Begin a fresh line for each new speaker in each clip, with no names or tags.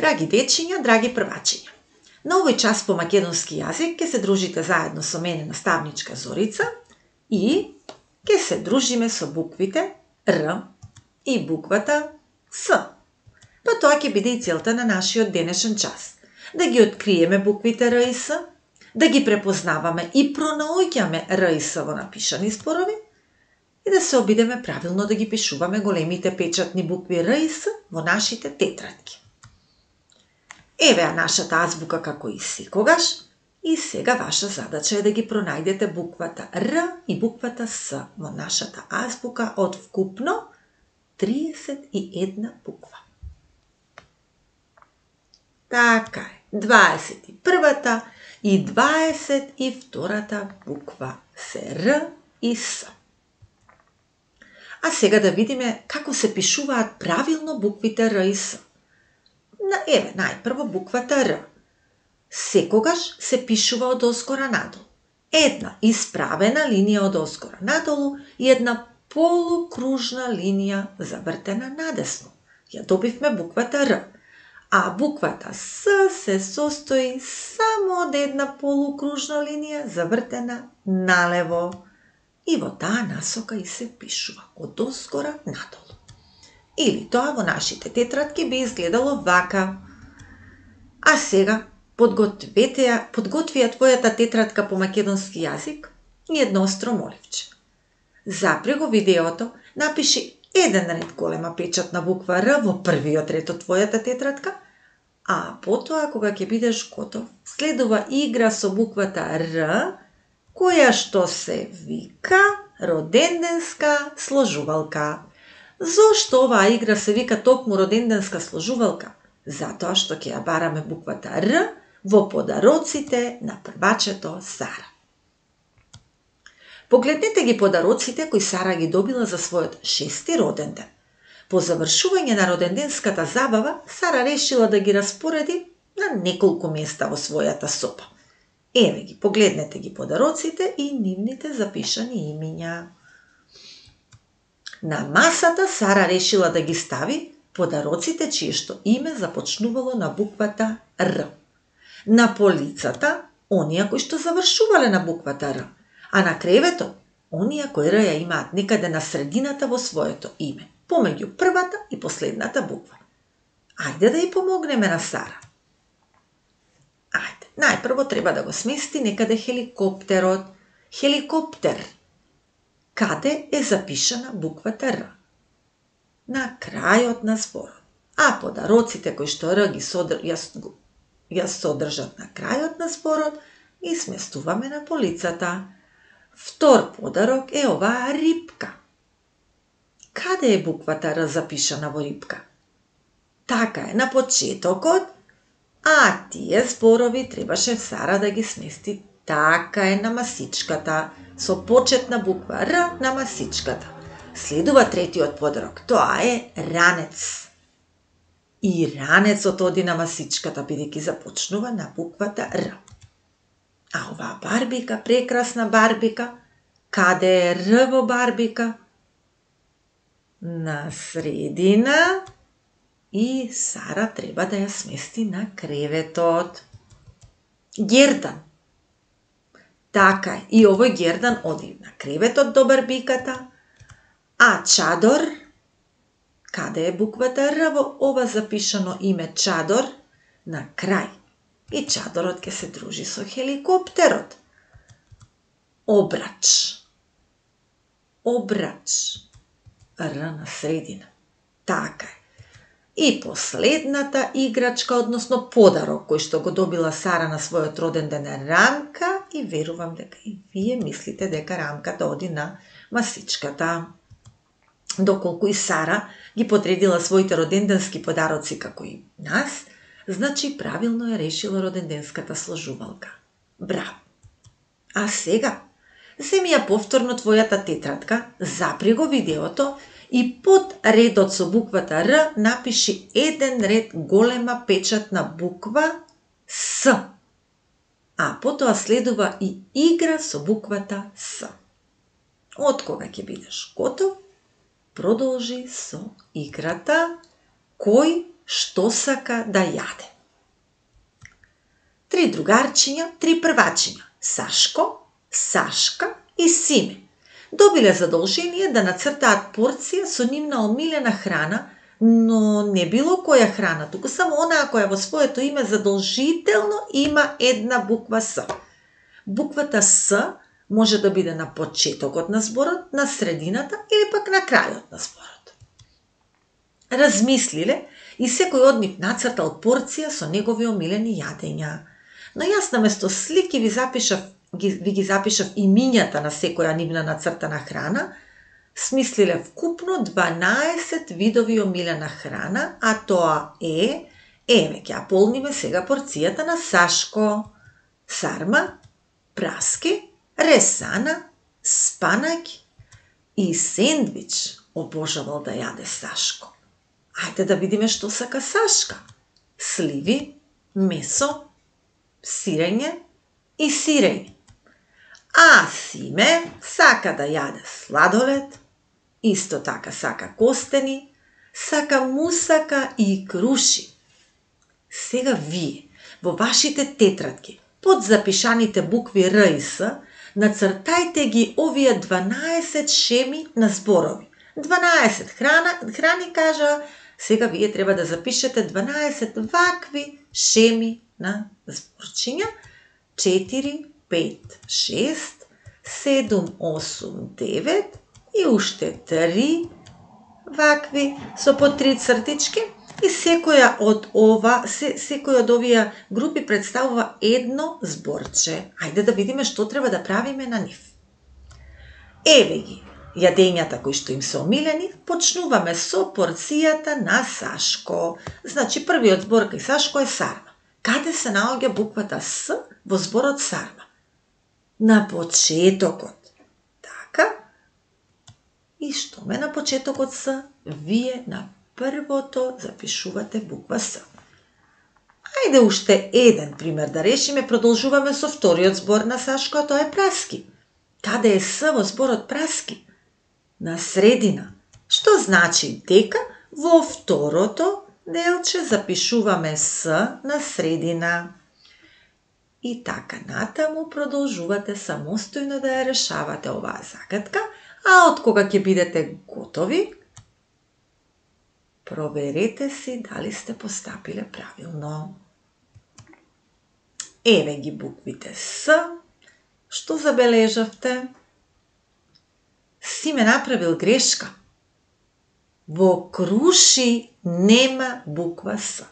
Драги дечиња, драги првачиња, на овој час по македонски јазик ќе се дружите заедно со мене наставничка Зорица и ќе се дружиме со буквите Р и буквата С. Па тоа ќе биде и целта на нашиот денешен час. Да ги откриеме буквите Р и С, да ги препознаваме и пронаоѓаме Р и С во напишани зборови и да се обидеме правилно да ги пишуваме големите печатни букви Р и С во нашите тетрадки. Еве ја нашата азбука како и секогаш, и сега ваша задача е да ги пронајдете буквата Р и буквата С во нашата азбука од вкупно 31 буква. Така е, 21-та и 22-та буква се Р и С. А сега да видиме како се пишуваат правилно буквите Р и С. Еве, најпрво буквата Р. Секогаш се пишува од озгора надолу. Една исправена линија од озгора надолу и една полукружна линија завртена надесно. Ја добивме буквата Р. А буквата С се состои само од една полукружна линија завртена налево. И во таа насока и се пишува од озгора надолу. Или тоа во нашите тетрадки би изгледало вака. А сега подготви ја твојата тетрадка по македонски јазик и едно остро моливче. Запри го видеото, напиши еден ред голема печатна буква Р во првиот ред од твојата тетрадка, а потоа кога ќе бидеш готов, следува игра со буквата Р, која што се вика роденденска сложувалка. Зошто оваа игра се вика токму роденденска сложувалка? Затоа што ќе ја бараме буквата Р во подароците на првачето Сара. Погледнете ги подароците кои Сара ги добила за својот 6-ти роден ден. По завршување на роденденската забава, Сара решила да ги распореди на неколку места во својата соба. Еве ги, погледнете ги подароците и нивните запишани имиња. На масата Сара решила да ги стави подароците чие што име започнувало на буквата Р. На полицата, оние кои што завршувале на буквата Р, а на креветот, оние кои Р ја имаат некаде на средината во своето име, помеѓу првата и последната буква. Ајде да ја помогнеме на Сара. Ајде, најпрво треба да го смести некаде хеликоптерот. Хеликоптер. Каде е запишана буквата Р? На крајот на зборот. А подароците кои што Р ја содржат на крајот на зборот и сместуваме на полицата. Втор подарок е оваа рипка. Каде е буквата Р запишана во рипка? Така е, на почетокот, а тие зборови требаше Сара да ги смести така е на масичката, со почетна буква Р на масичката. Следува третиот подарок, тоа е ранец. И ранецот оди на масичката, бидејќи започнува на буквата Р. А оваа барбика, прекрасна барбика, каде е Р во барбика? На средина и Сара треба да ја смести на креветот. Гердан. Така е, и овој гердан оди на креветот до барбиката, а чадор, каде е буквата Р во ова запишано име чадор? На крај. И чадорот ќе се дружи со хеликоптерот. Обрач. Обрач. Р на средина. Така е. И последната играчка, односно подарок, кој што го добила Сара на својот роден ден е рамка и верувам дека и вие мислите дека рамката оди на масичката. Доколку и Сара ги подредила своите роденденски подароци како и нас, значи правилно е решила роденденската сложувалка. Браво! А сега, земи ја повторно твојата тетрадка, запри го видеото и под редот со буквата Р напиши еден ред голема печатна буква С. А потоа следува и игра со буквата С. Откога ќе бидеш готов, продолжи со играта кој што сака да јаде. 3 другарчиња, 3 првачиња, Сашко, Сашка и Симе, добиле задолжение да нацртаат порција со нивна омилена храна, но не било која храна, туку само онаа која во своето име задолжително има една буква С. Буквата С може да биде на почетокот на зборот, на средината или пак на крајот на зборот. Размислиле и секој од нив нацртал порција со негови омилени јадења. Но јас наместо слики ви ги запишав имињата на секоја нивна нацртана храна, смислиле вкупно 12 видови омилена храна, а тоа е, еве, ќе ја полниме сега порцијата на Сашко: сарма, праски, ресана, спанаќ и сендвич. Обожавал да јаде Сашко. Ајде да видиме што сака Сашка: сливи, месо, сирење и сирење. А Симе сака да јаде сладолед, исто така сака костени, сака мусака и круши. Сега вие, во вашите тетрадки, под запишаните букви Р и С, нацртајте ги овие 12 шеми на зборови. 12 храни кажа, сега вие треба да запишете 12 вакви шеми на зборчиња. 4, 5, 6, 7, 8, 9 и уште 3 вакви со по 3 цртички, и секоја од овие групи представува едно зборче. Ајде да видиме што треба да правиме на нив. Еве ги јадењата кои што им се омилени. Почнуваме со порцијата на Сашко. Значи првиот збор кај Сашко е сарма. Каде се наоѓа буквата С во зборот сарма? На почетокот. Така. И што ме на почетокот С, вие на првото запишувате буква С. Ајде уште еден пример да решиме. Продолжуваме со вториот збор на Сашко, а тоа е праски. Каде е С во зборот праски? На средина. Што значи дека во второто делче запишуваме С на средина. И така натаму продолжувате самостојно да ја решавате оваа загадка, а од кога ќе бидете готови, проверете си дали сте постапиле правилно. Еве ги буквите С. Што забележавте? Симе направил грешка. Во круши нема буква С.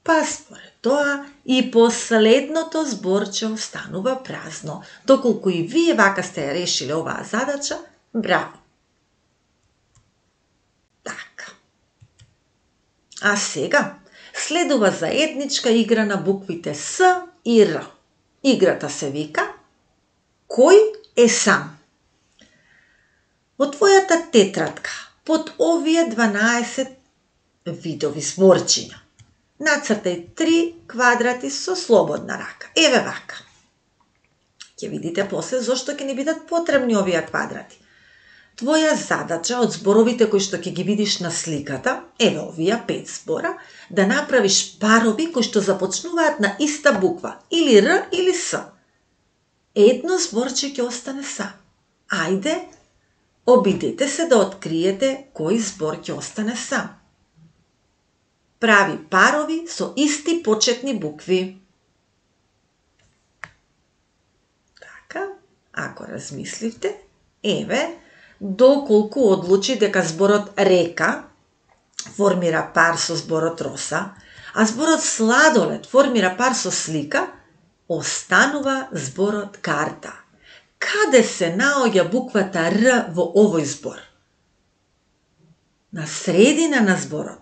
Па според тоа и последното зборче останува празно. Доколку и вие вака сте ја решиле оваа задача, браво! Така. А сега следува заедничка игра на буквите С и Р. Играта се вика Кој е сам? Во твојата тетрадка, под овие 12 видови зборчиња, нацртај 3 квадрати со слободна рака. Еве вака. Ќе видите после зошто ќе ни бидат потребни овие квадрати. Твоја задача од зборовите кои што ќе ги видиш на сликата, еве овие 5 збора, да направиш парови кои што започнуваат на иста буква, или Р или С. Едно зборче ќе остане сам. Ајде, обидете се да откриете кој збор ќе остане сам. Прави парови со исти почетни букви. Така, ако размисливте, еве, доколку одлучи дека зборот река формира пар со зборот роса, а зборот сладолед формира пар со слика, останува зборот карта. Каде се наоѓа буквата Р во овој збор? На средина на зборот.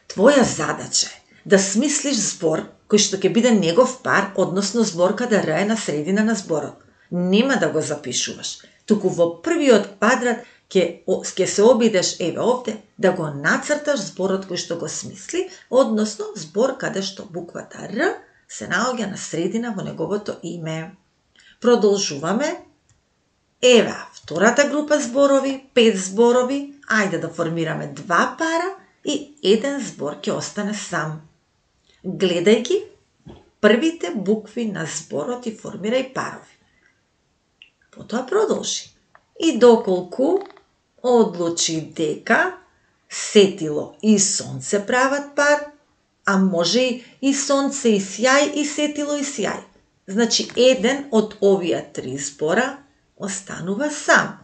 Твоја задача е да смислиш збор кој што ќе биде негов пар, односно збор каде Р е на средина на зборот. Нема да го запишуваш, туку во првиот квадрат ќе се обидеш, еве овде, да го нацрташ зборот кој што го смисли, односно збор каде што буквата Р се наоѓа на средина во неговото име. Продолжуваме. Еве, втората група зборови, 5 зборови, ајде да формираме 2 пара и еден збор ќе остане сам. Гледај ги првите букви на зборот и формирај парови. Потоа продолжи. И доколку одлучи дека сетило и сонце прават пар, а може и сонце и сјај и сетило и сјај. Значи, еден од овие три збора останува сам.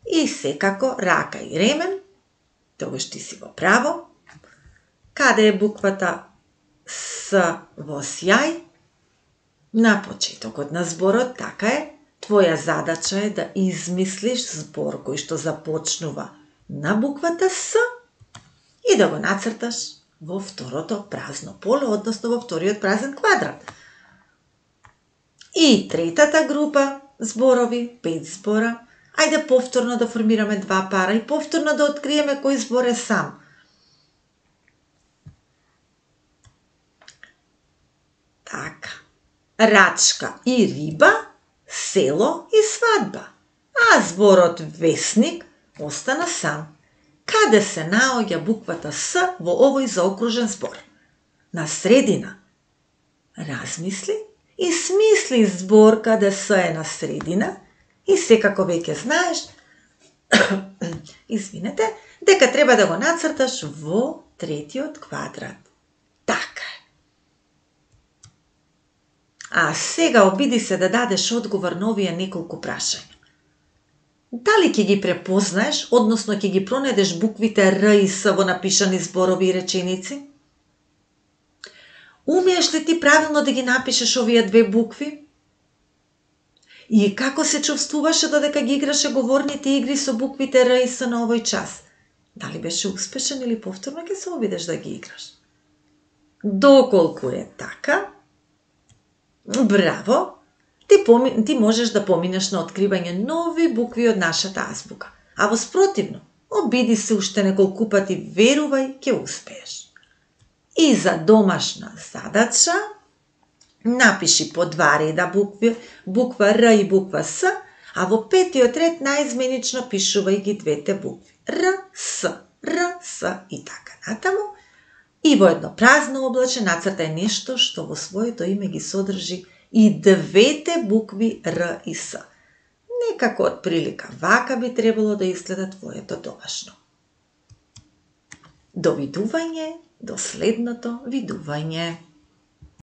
И секако рака и ремен, тогаш ти си во право. Каде е буквата С во сјај? На почетокот на зборот, така е. Твоја задача е да измислиш збор кој што започнува на буквата С и да го нацрташ во второто празно поле, односно во вториот празен квадрат. И третата група зборови, 5 збора, ајде повторно да формираме 2 пара и повторно да откриеме кој збор е сам. Така. Рачка и риба, село и свадба. А зборот весник остана сам. Каде се наоѓа буквата С во овој заокружен збор? На средина. Размисли и смисли збор каде С е на средина и секако веќе знаеш дека треба да го нацрташ во третиот квадрат. Така е. А сега обиди се да дадеш одговор на овие неколку прашања. Дали ќе ги препознаеш, односно ќе ги пронајдеш буквите Р и С во напишани зборови и реченици? Умееш ли ти правилно да ги напишеш овие две букви? И како се чувствуваше додека ги играше говорните игри со буквите Р и С на овој час? Дали беше успешен или повторно ќе се обидеш да ги играш? Доколку е така, браво! Ти можеш да поминеш на откривање нови букви од нашата азбука. А во спротивно, обиди се уште неколку пати, верувај, ќе успееш. И за домашна задача, напиши по 2 реда букви, буква Р и буква С, а во 5-тиот ред наизменично пишувај ги двете букви. Р, С и така натаму. И во едно празно облаче нацртај нешто што во своето име ги содржи и двете букви Р и С. Некако од прилика вака би требало да изгледа твоето домашно. До видување, до следното видување.